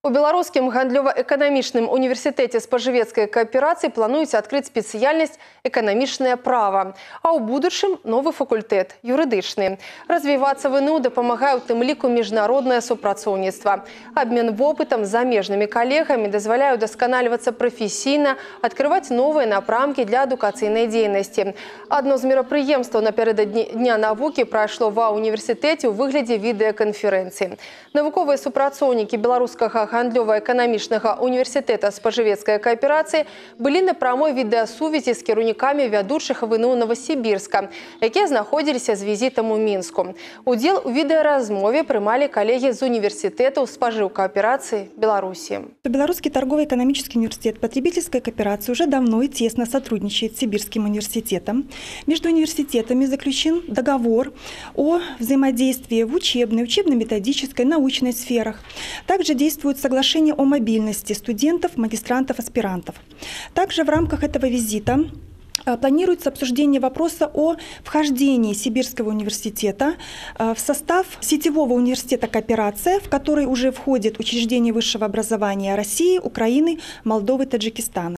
У Беларускім гандлёва-эканамічным універсітэце спажывецкай кааперацыі плануюць адкрыць спецыяльнасць эканамічнае права, а ў будучым новы факультэт юрыдычны. Развівацца ВНУ дапамагае ў тым ліку міжнароднае супрацоўніцтва. Абмен вопытам з замежнымі калегамі дазваляе удасканальвацца прафесійна, адкрываць новыя напрамкі для адукацыйнай дзейнасці. Адно з мерапрыемстваў напярэдадні Дня навукі прайшло ва універсітэце ў выглядзе відэаканферэнцыі. Навуковыя супрацоўнікі беларускага гандлёва-эканамічнага універсітэта спажывецкай кааперацыі былі на прамой відэасувязі з кіраўнікамі вядучых ВНУ Новасібірска, якія знаходзіліся з візітам у Мінску. Удзел у відэаразмове прымалі калегі з універсітэтаў спажыўкааперацыі Беларусі. Белорусский торгово-экономический университет потребительской кооперации уже давно и тесно сотрудничает с Сибирским университетом. Между университетами заключен договор о взаимодействии в учебной, учебно-методической, научной сферах. Также действует соглашение о мобильности студентов, магистрантов, аспирантов. Также в рамках этого визита планируется обсуждение вопроса о вхождении Сибирского университета в состав сетевого университета кооперация, в который уже входят учреждения высшего образования России, Украины, Молдовы, Таджикистана.